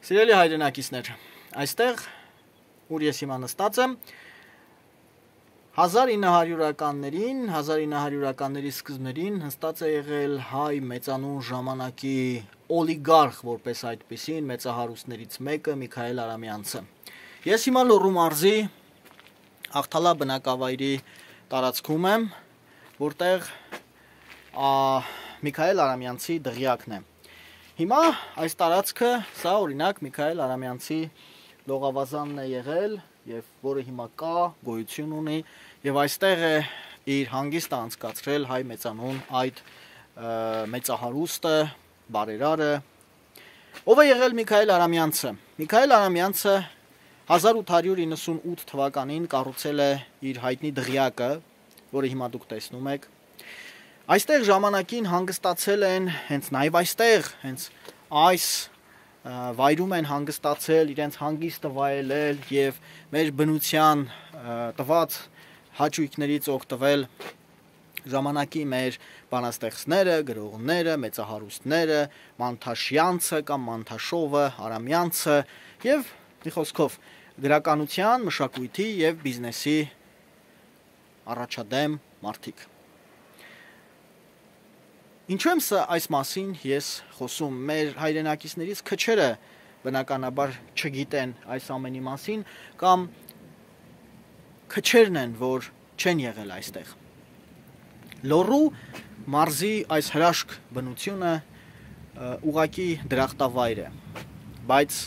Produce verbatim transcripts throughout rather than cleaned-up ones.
Սիրելի հայրենակիցներ, այստեղ, ուր ես հիմա նստած եմ, հազար ինը հարյուրականներին, հազար ինը հարյուրականների սկզբներին հստած է եղել հայ մեծանուն ժամանակի օլիգարխ, որպես այդպիսին, մեծահարուստներից մեկը Միքայել Արամյանցը։ Ես հիմա Լոռու մարզի Աղթալա բնակավայրի տարածքում եմ, որտեղ Միքայել Արամյանցի դղյակն է։ Հիմա այս տարածքը, սա օրինակ Միքայել Արամյանցի լողավազանն է եղել, եւ որը հիմա կա, գոյություն ունի, եւ այստեղ է իր հանգիստը անցկացրել հայ մեծանուն այդ մեծահարուստը, բարերարը։ Ով է եղել Միքայել Արամյանցը։ Միքայել Արամյանցը հազար ութ հարյուր իննսունութ թվականին կառուցել է իր հայտնի դղյակը, որը հիմա դուք տեսնում եք։ Այստեղ ժամանակին հանգստացել են, հենց նաև այստեղ, հենց այս վայրում են հանգստացել, իրենց հանգիստը վայելել եւ մեր բնության տված հաճույքներից օգտվել ժամանակի մեր բանաստեղծները, գրողները, մեծահարուստները, Մանթաշյանցը կամ Մանթաշովը, Արամյանցը եւ մի խոսքով գրականության, մշակույթի եւ բիզնեսի առաջադեմ մարդիկ։ Ինչու եմ սա այս մասին ես խոսում, մեր հայրենակիցներից քչերը բնականաբար չգիտեն այս ամենի մասին կամ քչերն են, որ չեն եղել այստեղ։ Լոռու մարզի այս հրաշք բնությունը ուղակի դրախտավայր է, բայց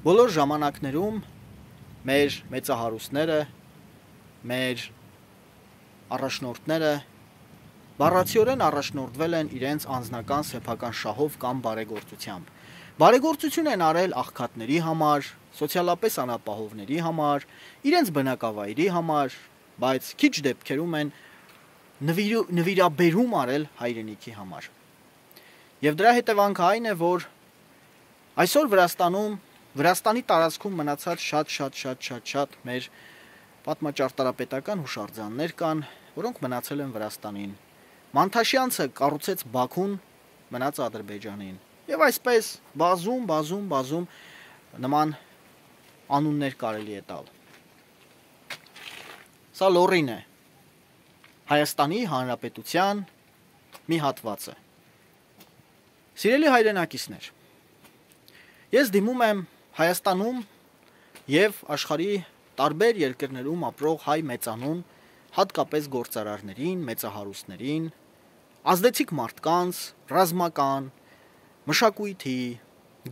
բոլոր ժամանակներում մեր մեծահարուստները, մեր առաջնորդները բառացիորեն առաջնորդվել են իրենց անձնական սեփական շահով կամ բարեգործությամբ։ Բարեգործություն են արել աղքատների համար, սոցիալապես անապահովների համար, իրենց բնակավայրի համար, բայց քիչ դեպքերում են նվիրաբերում արել հայրենիքի համար։ Եվ դրա հետևանքը այն է, որ այսօր Վրաստանում, Վրաստանի տարածքում մնացած շատ շատ շատ շատ շատ մեր պատմաճարտարապետական հուշարձաններ կան, որոնք մնացել են Վրաստանին։ Մանթաշյանցը կառուցեց Բաքուն, մնաց Ադրբեջանին։ Եվ այսպես բազում, բազում, բազում նման անուններ կարելի է տալ։ Սա Լոռին է, Հայաստանի Հանրապետության մի հատվածը։ Սիրելի հայրենակիցներ, ես դիմում եմ Հայաստանում եւ աշխարհի տարբեր երկրներում ապրող հայ մեծանուն, հատկապես գործարարներին, մեծահարուստներին, ազդեցիկ մարդկանց, ռազմական, մշակույթի,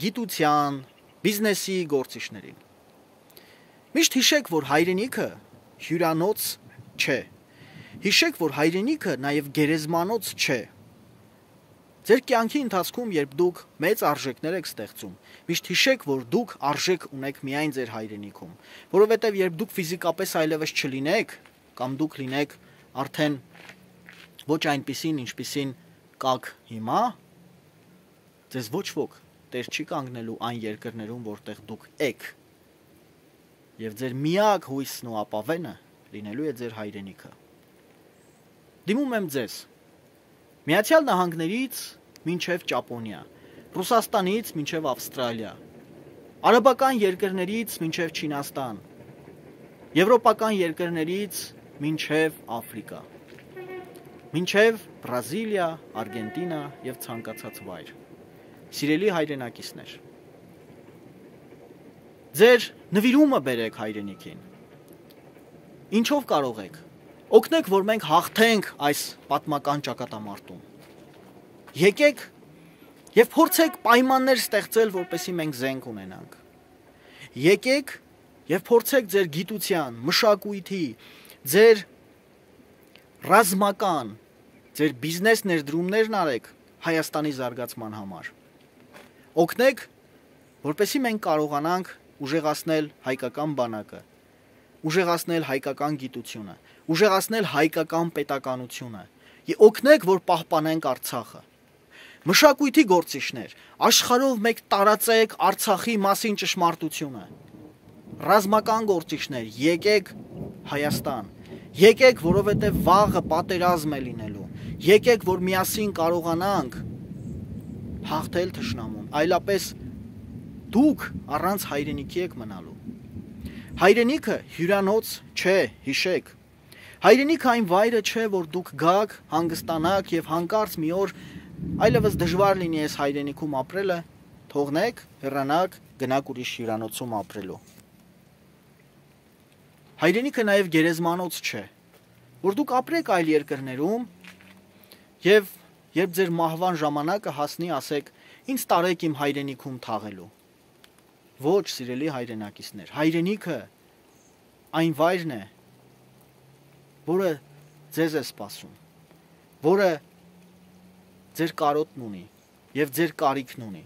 գիտության, բիզնեսի գործիչներին։ Միշտ հիշեք, որ հայրենիքը հյուրանոց չէ։ Հիշեք, որ հայրենիքը նաև գերեզմանոց չէ։ Ձեր կյանքի ընթացքում, երբ դուք մեծ արժեքներ եք ստեղծում, միշտ հիշեք, որ դուք արժեք ունեք միայն ձեր հայրենիքում, որովհետև երբ դուք ֆիզիկապես այլևս չլինեք, կամ դուք լինեք արդեն ոչ այնպիսին, ինչպիսին կաք հիմա, ձեզ ոչ ոք տեր չի կանգնելու այն երկրներում, որտեղ դուք եք, եւ ձեր միակ հույսն ու ապավենը լինելու է ձեր հայրենիքը։ Դիմում եմ ձեզ Միացյալ Նահանգներից մինչև Ճապոնիա, Ռուսաստանից մինչև Ավստրալիա, արաբական երկրներից մինչև Չինաստան, եվրոպական երկրներից մինչև Աֆրիկա, մինչև Բրազիլիա, Արգենտինա եւ ցանկացած վայր։ Սիրելի հայրենակիցներ, ձեր նվիրումը բերեք հայրենիքին։ Ինչով կարող եք։ Օգնեք, որ մենք հաղթենք այս պատմական ճակատամարտում։ Եկեք եւ փորձեք պայմաններ ստեղծել, որպեսզի մենք զենք ունենանք։ Եկեք եւ փորձեք ձեր գիտության, մշակույթի, ձեր ռազմական, ձեր բիզնես ներդրումներն արեք Հայաստանի զարգացման համար։ Օգնեք, որպեսզի մենք կարողանանք ուժեղացնել հայկական բանակը, ուժեղացնել հայկական գիտությունը, ուժեղացնել հայկական պետականությունը, եւ օգնեք, որ պահպանենք Արցախը։ Մշակույթի գործիչներ, աշխարհով մեկ տարածեք Արցախի մասին ճշմարտությունը։ Ռազմական գործիչներ, եկեք Հայաստան, եկեք, որովհետև վաղը պատերազմ է լինելու, եկեք, որ միասին կարողանանք հաղթել թշնամուն, այլապես դուք առանց հայրենիքի եք մնալու։ Հայրենիքը հյուրանոց չէ, հիշեք։ Հայրենիքը այն վայրը չէ, որ դուք գաք, հանգստանաք եւ հանկարծ մի օր այլևս դժվար լինի այս հայրենիքում ապրելը, թողնեք, հեռանաք, գնաք ուրիշ հյուրանոցում ապրելու։ Հայրենիքը նաեւ գերեզմանոց չէ, որ դուք ապրեք այլ երկրներում եւ երբ ձեր մահվան ժամանակը հասնի, ասեք, ինձ տարեք իմ հայրենիքում թաղելու։ Ոչ, սիրելի հայրենակիցներ, հայրենիքը այն վայրն է, որը ձեզ է սպասում, որը ձեր կարոտն ունի եւ ձեր կարիքն ունի։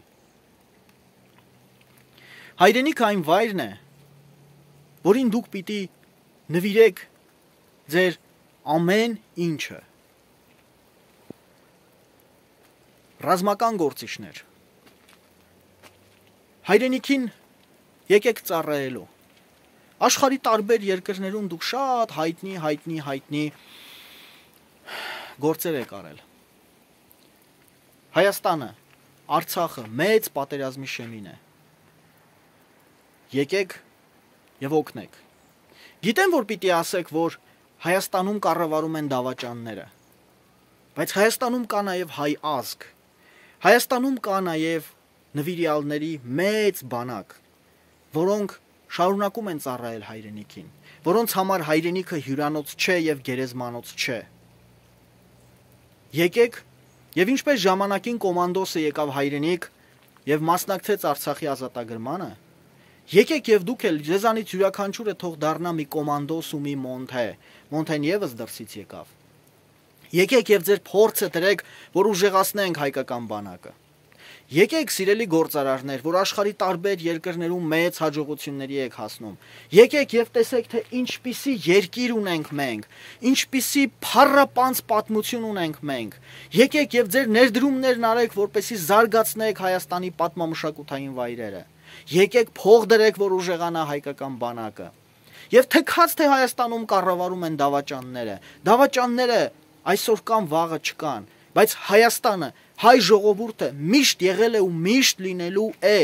Հայրենիքը այն վայրն է, որին դուք պիտի նվիրեք ձեր ամեն ինչը։ Ռազմական գործիչներ, հայրենիքին եկեք ծառայելու։ Աշխարհի տարբեր երկրներում դուք շատ հայտնի, հայտնի, հայտնի գործեր եք արել։ Հայաստանը, Արցախը մեծ պատերազմի շեմին է։ Եկեք եւ օգնեք։ Գիտեմ, որ պիտի ասեք, որ Հայաստանում կառավարում են դավաճանները, բայց Հայաստանում կա նաեւ հայ ազգ։ Հայաստանում կա նաեւ նվիրյալների մեծ բանակ, որոնք շարունակում են ծառայել հայրենիքին, որոնց համար հայրենիքը հյուրանոց չէ եւ գերեզմանոց չէ։ Եկեք եւ ինչպես ժամանակին կոմանդոսը եկավ հայրենիք եւ մասնակցեց Արցախի ազատագրմանը, եկեք եւ դուք էլ ձեզանից յուրաքանչյուրը թող դառնա մի կոմանդոս ու մի մոնթե, մոնթեն եւս դրսից եկավ։ Եկեք եւ ձեր փորձը դրեք, որ ուժեղացնենք հայկական բանակը։ Եկեք, սիրելի գործարարներ, որ աշխարհի տարբեր երկրներում մեծ հաջողությունների եք հասնում։ Եկեք եւ տեսեք, թե ինչպիսի երկիր ունենք մենք, ինչպիսի փառապանց պատմություն ունենք մենք։ Եկեք եւ ձեր ներդրումներն արեք, որպեսզի զարգացնեք Հայաստանի պատմամշակութային վայրերը։ Եկեք փող դրեք, որ ուժեղանա հայկական բանակը։ Եվ թքած թե Հայաստանում կառավարում են դավաճանները։ Դավաճանները այսօր կան, վաղը չկան, բայց Հայաստանը, հայ ժողովուրդը միշտ եղել է ու միշտ լինելու է,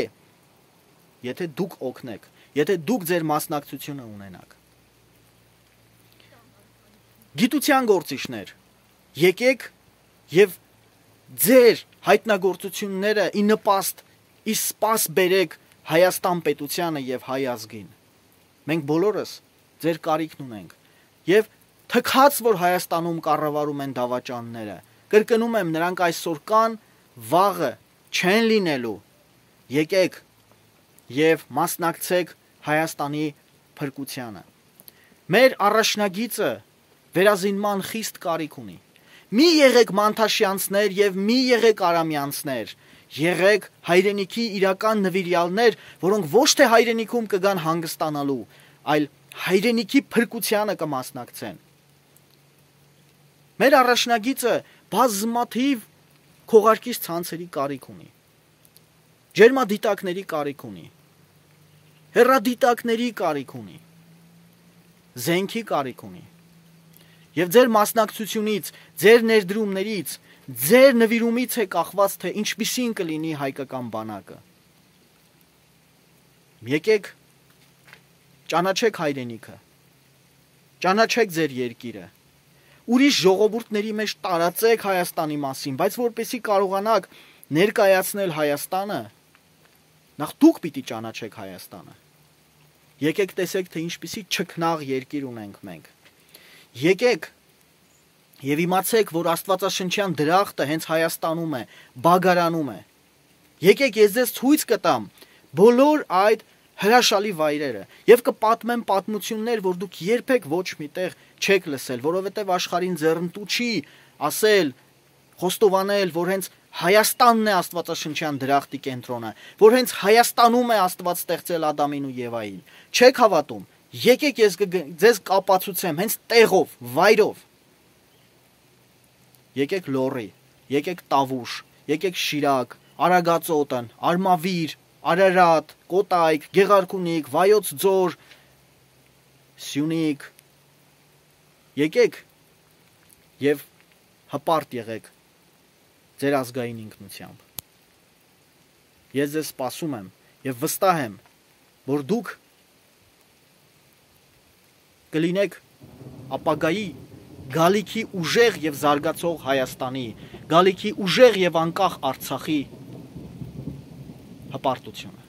եթե դուք օգնեք, եթե դուք ձեր մասնակցությունը ունենաք։ Գիտության գործիչներ, եկեք եւ ձեր հայտնագործությունները ի նպաստ, ի սպաս բերեք Հայաստան պետությանը եւ հայ ազգին։ Մենք բոլորս ձեր կարիքն ունենք եւ թքած, որ Հայաստանում կառավարում են դավաճանները, կրկնում եմ, նրանք այսօր կան, վաղը չեն լինելու։ Եկեք եւ մասնակցեք Հայաստանի փրկությանը։ Մեր առաջնագիծը վերազինման խիստ կարիք ունի։ Մի եղեք մանթաշյանցներ եւ մի եղեք արամյանցներ։ Եղեք հայրենիքի իրական նվիրյալներ, որոնք ոչ թե հայրենիքում կգան հանգստանալու, այլ հայրենիքի փրկությանը կմասնակցեն։ Մեր առաջնագիծը բազմաթիվ քողարկիչ ցանցերի կարիք ունի։ Ջերմադիտակների կարիք ունի։ Հեռադիտակների կարիք ունի։ Զենքի կարիք ունի։ Եվ ձեր մասնակցությունից, ձեր ներդրումներից, ձեր նվիրումից է կախված, թե ինչպիսին կլինի հայկական բանակը։ Եկեք ճանաչեք հայրենիքը։ Ճանաչեք ձեր երկիրը։ Ուրիշ ժողովուրդների մեջ տարածեք Հայաստանի մասին, բայց որպեսզի կարողանաք ներկայացնել Հայաստանը, նախ դուք պիտի ճանաչեք Հայաստանը։ Եկեք տեսեք, թե ինչպիսի չքնաղ երկիր ունենք մենք։ Եկեք եւ իմացեք, որ Աստվածաշնչյան դրախտը հենց Հայաստանում է, Բագարանում է։ Եկեք ես ձեզ ցույց կտամ բոլոր այդ հրաշալի վայրերը եւ կպատմեմ պատմություններ, որ դուք երբեք ոչ միտեղ չեք լսել, որովհետեւ աշխարհին ձեռնտու չի ասել, խոստովանել, որ հենց Հայաստանն է Աստվածաշնչյան դրախտի կենտրոնը, որ հենց Հայաստանում է Աստված ստեղծել Ադամին ու Եվային։ Չեք հավատում։ Եկեք ես ձեզ կապացուցեմ հենց տեղով, վայրով։ Եկեք Լոռի, եկեք Տավուշ, եկեք Շիրակ, Արագածոտն, Արմավիր, Արարատ, Կոտայք, Գեղարքունիք, Վայոց ձոր, Սյունիք։ Եկեք եւ հպարտ եղեք ձեր ազգային ինքնությամբ։ Ես ձեզ սպասում եմ եւ վստահ եմ, որ դուք կլինեք ապագայի գալիքի ուժեղ եւ զարգացող Հայաստանի, գալիքի ուժեղ եւ անկախ Արցախի հպարտությունը։